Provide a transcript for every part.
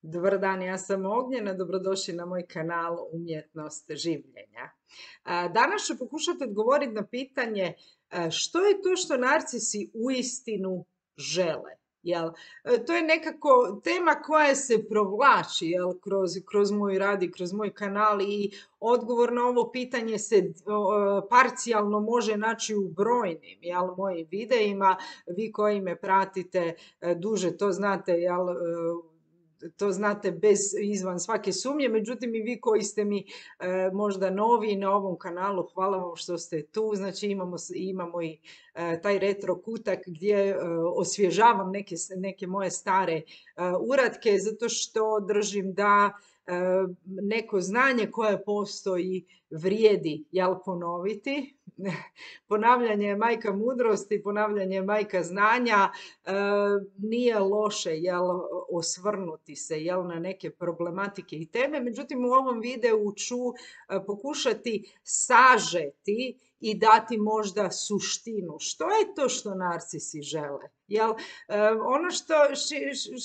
Dobar dan, ja sam Ognjena, dobrodošli na moj kanal Umjetnost življenja. Danas ću pokušati odgovoriti na pitanje što je to što narcisi uistinu žele. Jel? To je nekako tema koja se provlači, jel, kroz moj rad i kroz moj kanal i odgovor na ovo pitanje se parcijalno može naći u brojnim, jel, mojim videima. Vi koji me pratite duže to znate, jel, to znate izvan svake sumnje, međutim i vi koji ste mi možda novi na ovom kanalu, hvala vam što ste tu. Znači imamo i taj retro kutak gdje osvježavam neke moje stare uratke, zato što držim da neko znanje koje postoji vrijedi, jel, ponoviti. Ponavljanje je majka mudrosti, ponavljanje je majka znanja. Nije loše, jel, osvrnuti se, jel, na neke problematike i teme, međutim u ovom videu ću pokušati sažeti i dati možda suštinu. Što je to što narcisi žele? Jel, ono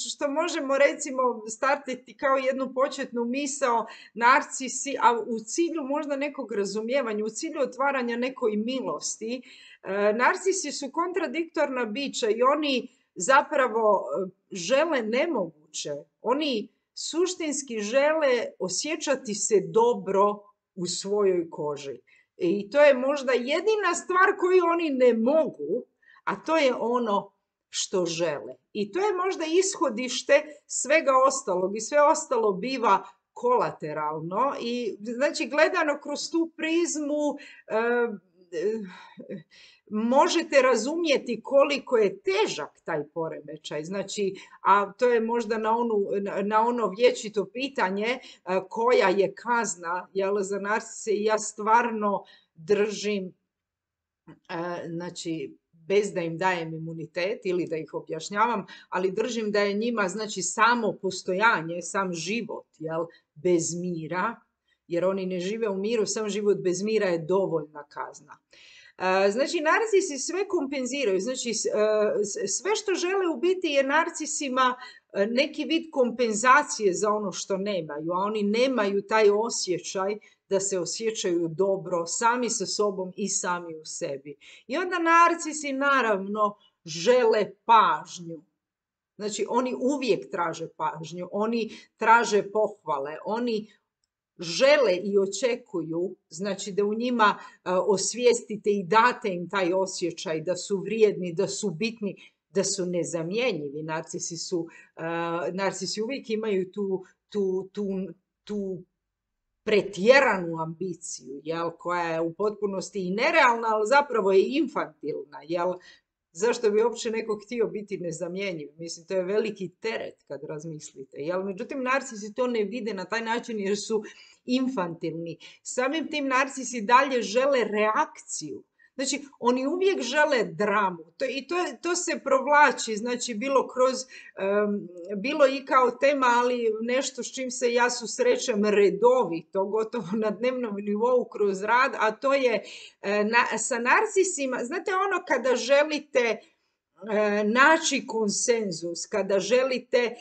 što možemo recimo startiti kao jednu početnu misao, narcisi, a u cilju možda nekog razumijevanja, u cilju otvaranja nekoj milosti, narcisi su kontradiktorna bića i oni zapravo žele nemoguće. Oni suštinski žele osjećati se dobro u svojoj koži. I to je možda jedina stvar koju oni ne mogu, a to je ono što žele. I to je možda ishodište svega ostalog i sve ostalo biva kolateralno i znači gledano kroz tu prizmu možete razumjeti koliko je težak taj poremećaj. Znači, a to je možda na ono vječito pitanje koja je kazna, jel, za narcise, i ja stvarno držim, znači, bez da im dajem imunitet ili da ih objašnjavam, ali držim da je njima, znači, samo postojanje, sam život, jel, bez mira, jer oni ne žive u miru, sam život bez mira je dovoljna kazna. Znači, narcisi sve kompenziraju, znači sve što žele u biti je narcisima neki vid kompenzacije za ono što nemaju, a oni nemaju taj osjećaj da se osjećaju dobro sami sa sobom i sami u sebi. I onda narcisi naravno žele pažnju. Znači, oni uvijek traže pažnju, oni traže pohvale, oni žele i očekuju, znači da u njima osvijestite i date im taj osjećaj da su vrijedni, da su bitni, da su nezamjenjivi. Narcisi uvijek imaju tu pretjeranu ambiciju, jel, koja je u potpunosti i nerealna, ali zapravo je infantilna, jel. Zašto bi uopće neko htio biti nezamjenjiv? Mislim, to je veliki teret kad razmislite. Jel? Međutim, narcisi to ne vide na taj način jer su infantilni. Samim tim narcisi dalje žele reakciju. Znači, oni uvijek žele dramu. To se provlači, znači, bilo i kao tema, ali nešto s čim se ja susrećem redovito, gotovo na dnevnom nivou kroz rad, a to je sa narcisima, znate ono kada želite naći konsenzus, kada želite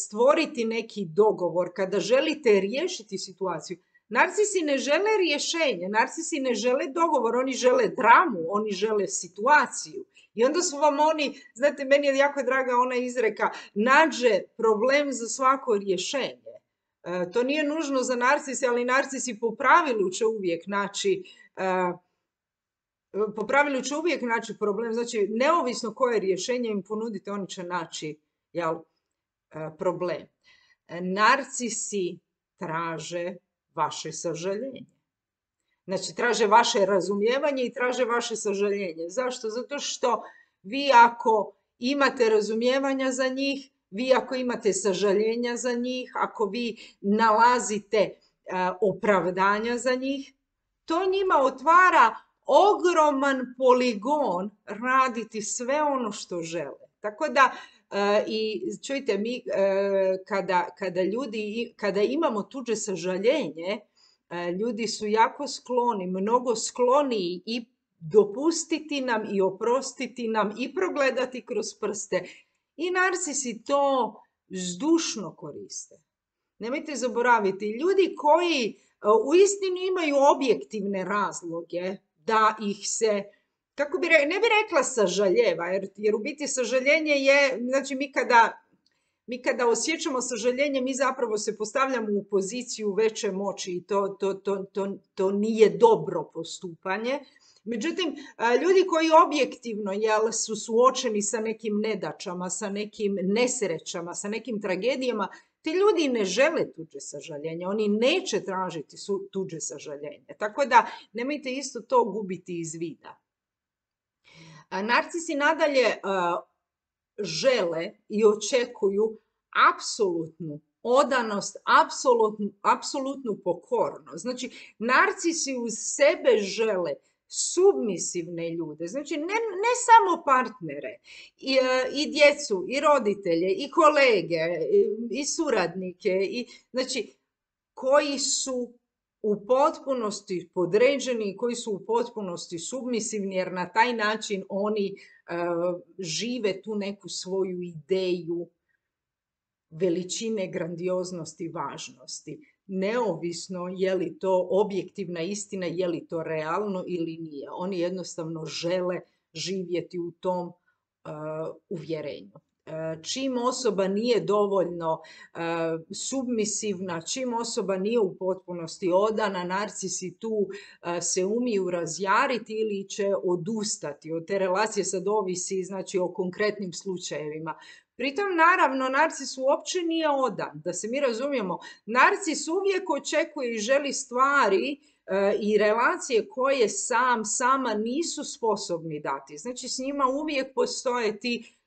stvoriti neki dogovor, kada želite riješiti situaciju. Narcisi ne žele rješenje, narcisi ne žele dogovor, oni žele dramu, oni žele situaciju. I onda su vam oni, znate, meni je jako draga ona izreka, nađe problem za svako rješenje. To nije nužno za narcise, ali narcisi po pravilu će uvijek naći problem, znači neovisno koje rješenje im ponudite, oni će naći, jel, problem. Narcisi traže vaše sažaljenje. Znači, traže vaše razumijevanje i traže vaše sažaljenje. Zašto? Zato što vi ako imate razumijevanja za njih, vi ako imate sažaljenja za njih, ako vi nalazite opravdanja za njih, to njima otvara ogroman poligon raditi sve ono što žele. Tako da, i čujte, mi kada imamo tuđe sažaljenje, ljudi su jako skloni, mnogo skloniji i dopustiti nam i oprostiti nam i progledati kroz prste. I narcisi to zdušno koriste. Nemojte zaboraviti, ljudi koji uistinu imaju objektivne razloge da ih se, ne bi rekla sažaljeva, jer u biti sažaljenje je, znači mi kada osjećamo sažaljenje, mi zapravo se postavljamo u poziciju veće moći i to nije dobro postupanje. Međutim, ljudi koji objektivno su suočeni sa nekim nedaćama, sa nekim nesrećama, sa nekim tragedijama, ti ljudi ne žele tuđe sažaljenje, oni neće tražiti tuđe sažaljenje. Tako da nemojte isto to gubiti iz vida. Narcisi nadalje žele i očekuju apsolutnu odanost, apsolutnu pokornost. Znači, narcisi uz sebe žele submisivne ljude, znači ne samo partnere, i djecu, i roditelje, i kolege, i suradnike, znači koji su u potpunosti podređeni, koji su u potpunosti submisivni, jer na taj način oni žive tu neku svoju ideju veličine, grandioznosti, važnosti. Neovisno je li to objektivna istina, je li to realno ili nije. Oni jednostavno žele živjeti u tom uvjerenju. Čim osoba nije dovoljno submisivna, čim osoba nije u potpunosti odana, narcisi tu se umiju razjariti ili će odustati od te relacije. Sad ovisi, znači, o konkretnim slučajevima. Pritom, naravno, narcis uopće nije odan. Da se mi razumijemo, narcis uvijek očekuje i želi stvari i relacije koje sama nisu sposobni dati. Znači, s njima uvijek postoje ti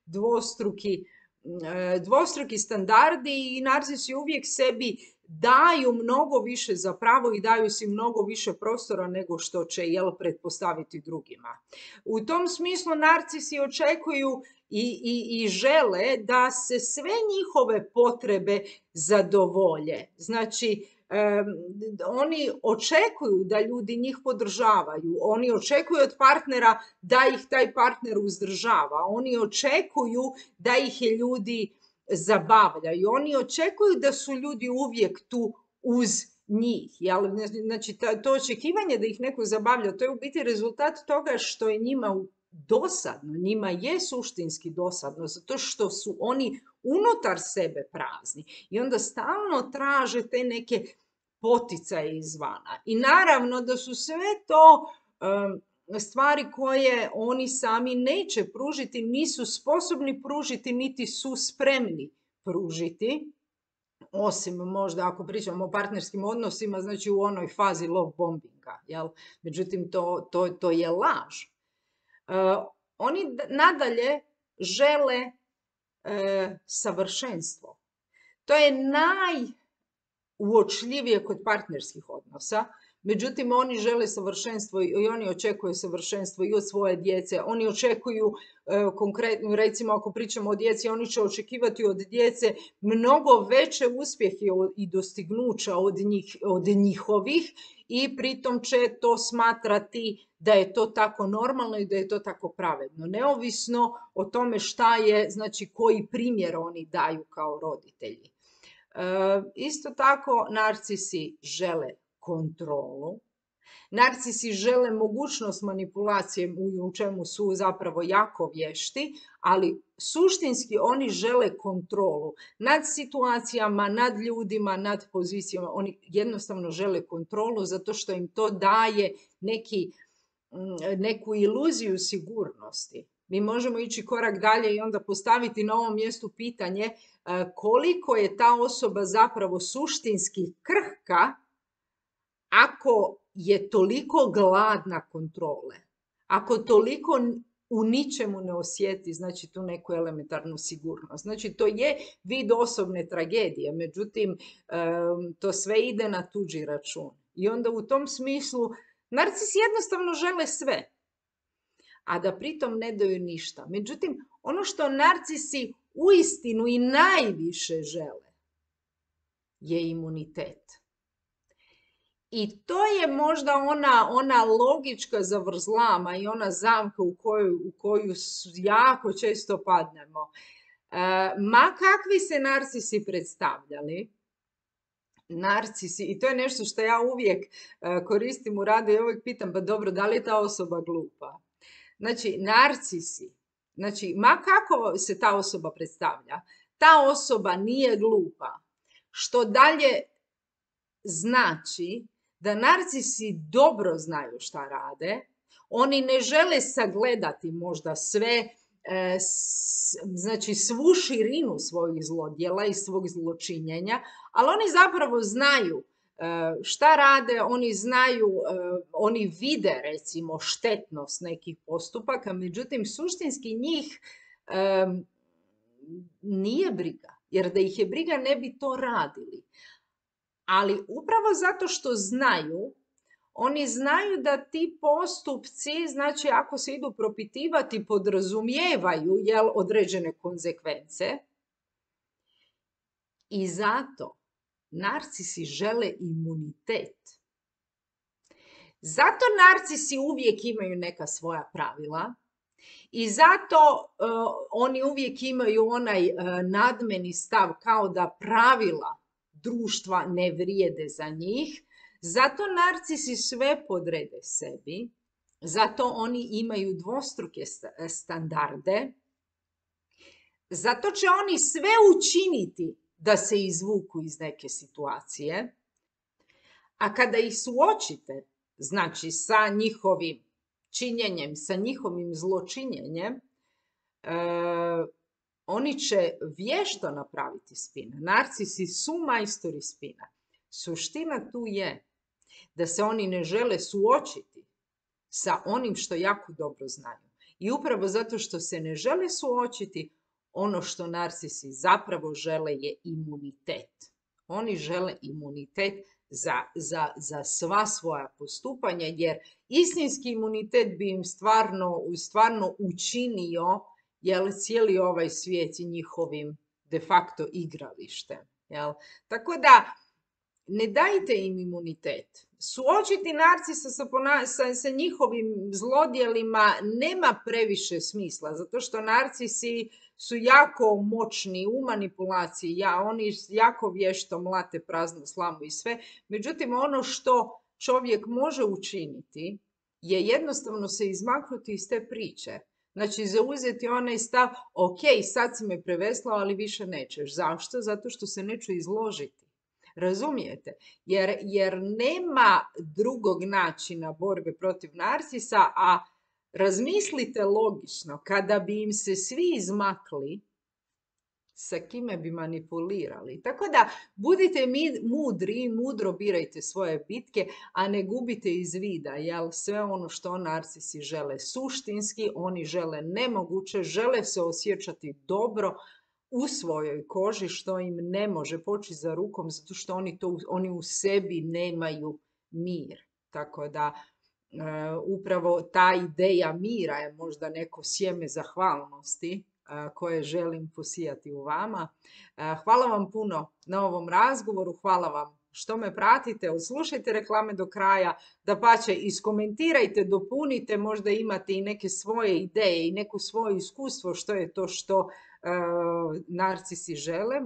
dvostruki standardi i narcisi uvijek sebi daju mnogo više za pravo i daju si mnogo više prostora nego što će pretpostaviti drugima. U tom smislu narcisi očekuju i žele da se sve njihove potrebe zadovolje. Znači, oni očekuju da ljudi njih podržavaju, oni očekuju od partnera da ih taj partner uzdržava, oni očekuju da ih ljudi zabavljaju, oni očekuju da su ljudi uvijek tu uz njih. Znači, to očekivanje da ih neko zabavlja, to je u biti rezultat toga što je njima dosadno, njima je suštinski dosadno, zato što su oni unutar sebe prazni i onda stalno traže te neke poticaje izvana. I naravno da su sve to stvari koje oni sami neće pružiti, nisu sposobni pružiti, niti su spremni pružiti, osim možda ako pričamo o partnerskim odnosima, znači u onoj fazi love bombinga. Međutim, to je laž. Oni nadalje žele savršenstvo. To je najuočljivije kod partnerskih odnosa. Međutim, oni žele savršenstvo i oni očekuju savršenstvo i od svoje djece. Oni očekuju, konkretno, recimo ako pričamo o djeci, oni će očekivati od djece mnogo veće uspjehe i dostignuća od njihovih i pritom će to smatrati da je to tako normalno i da je to tako pravedno. Neovisno o tome šta je, znači koji primjer oni daju kao roditelji. Isto tako, narcisi žele kontrolu. Narcisi žele mogućnost manipulacije u čemu su zapravo jako vješti, ali suštinski oni žele kontrolu nad situacijama, nad ljudima, nad pozicijama. Oni jednostavno žele kontrolu zato što im to daje neku iluziju sigurnosti. Mi možemo ići korak dalje i onda postaviti na ovom mjestu pitanje koliko je ta osoba zapravo suštinski krhka ako je toliko gladna kontrole, ako toliko u ničemu ne osjeti, znači tu neku elementarnu sigurnost. Znači to je vid osobne tragedije, međutim to sve ide na tuđi račun. I onda u tom smislu narcisi jednostavno žele sve, a da pritom ne daju ništa. Međutim, ono što narcisi uistinu i najviše žele je imunitet. I to je možda ona logička zavrzlama i ona zamka u koju jako često padnemo. Ma kakvi se narcisi predstavljali, narcisi, i to je nešto što ja uvijek koristim u radu i uvijek pitam, pa dobro, da li je ta osoba glupa? Znači, narcisi, znači, ma kako se ta osoba predstavlja, ta osoba nije glupa. Što dalje znači da narcisi dobro znaju šta rade, oni ne žele sagledati možda sve, znači svu širinu svojih zlodjela i svog zločinjenja, ali oni zapravo znaju šta rade, oni znaju, oni vide recimo štetnost nekih postupaka, međutim suštinski njih nije briga, jer da ih je briga ne bi to radili. Ali upravo zato što znaju, oni znaju da ti postupci, znači ako se idu propitivati, podrazumijevaju određene konzekvence. I zato narcisi žele imunitet. Zato narcisi uvijek imaju neka svoja pravila i zato oni uvijek imaju onaj nadmeni stav kao da pravila društva ne vrijede za njih. Zato narcisi sve podrede sebi, zato oni imaju dvostruke standarde, zato će oni sve učiniti da se izvuku iz neke situacije, a kada ih suočite, znači sa njihovim činjenjem, sa njihovim zločinjenjem, oni će vješto napraviti spin. Narcisi su majstori spina. Suština tu je da se oni ne žele suočiti sa onim što jako dobro znaju. I upravo zato što se ne žele suočiti, ono što narcisi zapravo žele je imunitet. Oni žele imunitet za sva svoja postupanja, jer istinski imunitet bi im stvarno učinio cijeli ovaj svijet i njihovim de facto igralištem. Tako da, ne dajte im imunitet. Suočiti narcisa sa njihovim zlodjelima nema previše smisla, zato što narcisi su jako moćni u manipulaciji, oni jako vješto mlate praznu slamu i sve. Međutim, ono što čovjek može učiniti je jednostavno se izmaknuti iz te priče. Znači, zauzeti onaj stav, ok, sad si me preveslao, ali više nećeš. Zašto? Zato što se neću izložiti. Razumijete? Jer nema drugog načina borbe protiv narcisa, a razmislite logično, kada bi im se svi izmakli, sa kime bi manipulirali. Tako da budite mudri i mudro birajte svoje bitke, a ne gubite iz vida, sve ono što narcisi žele suštinski, oni žele nemoguće, žele se osjećati dobro u svojoj koži, što im ne može poći za rukom, zato što oni u sebi nemaju mir. Tako da upravo ta ideja mira je možda neko sjeme zahvalnosti koje želim posijati u vama. Hvala vam puno na ovom razgovoru, hvala vam što me pratite, odslušajte reklame do kraja, dapače iskomentirajte, dopunite, možda imate i neke svoje ideje i neko svoje iskustvo što je to što narcisi žele,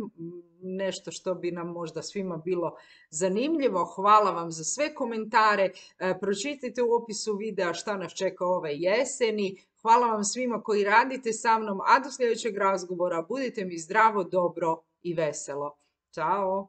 nešto što bi nam možda svima bilo zanimljivo. Hvala vam za sve komentare, pročitajte u opisu videa šta nas čeka ove jeseni. Hvala vam svima koji radite sa mnom, a do sljedećeg razgovora budite mi zdravo, dobro i veselo. Ćao!